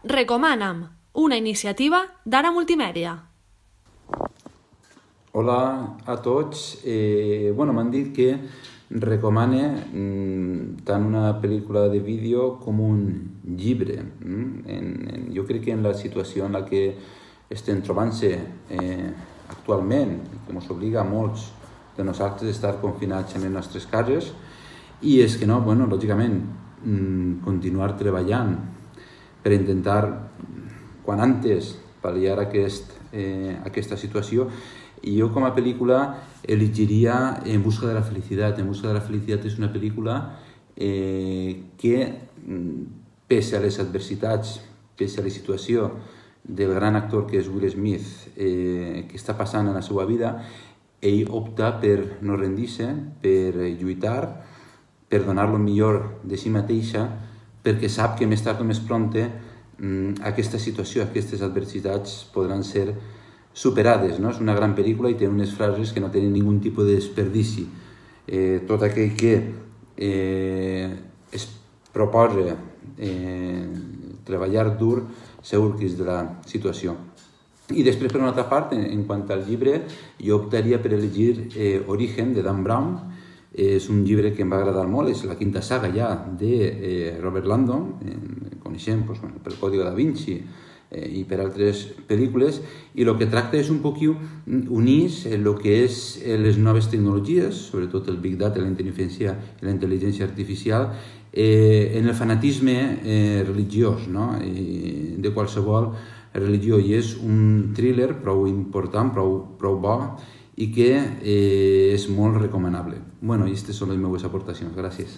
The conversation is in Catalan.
Recomana'm, una iniciativa d'Ara Multimèdia. Hola a tots. M'han dit que recomane tant una pel·lícula de vídeo com un llibre. Jo crec que en la situació en la que estem trobant-se actualment, que ens obliga a molts de nosaltres a estar confinats en les nostres cases, i és que no, lògicament, continuar treballant per intentar, quan antes, pal·liar aquesta situació. I jo com a pel·lícula elegiria En busca de la felicitat. En busca de la felicitat és una pel·lícula que, pese a les adversitats, pese a la situació del gran actor que és Will Smith, que està passant en la seva vida, ell opta per no rendir-se, per lluitar, per donar el millor de si mateixa, perquè sap que més tard o més prompte aquesta situació, aquestes adversitats podran ser superades, no? És una gran pel·lícula i té unes frases que no tenen ningú tipus de desperdici. Tot aquell que es proposa treballar dur segur que és de la situació. I després, per una altra part, en quant al llibre, jo optaria per elegir Origen, de Dan Brown. És un llibre que em va agradar molt, és la quinta saga ja de Robert Landon, coneixem pel Código da Vinci i per altres pel·lícules, i el que tracta és un poc unir el que és les noves tecnologies, sobretot el Big Data, la intel·ligència artificial, en el fanatisme religiós, no? De qualsevol religió, i és un thriller prou important, prou bo, i que és molt recomanable. I aquestes són les meves aportacions. Gràcies.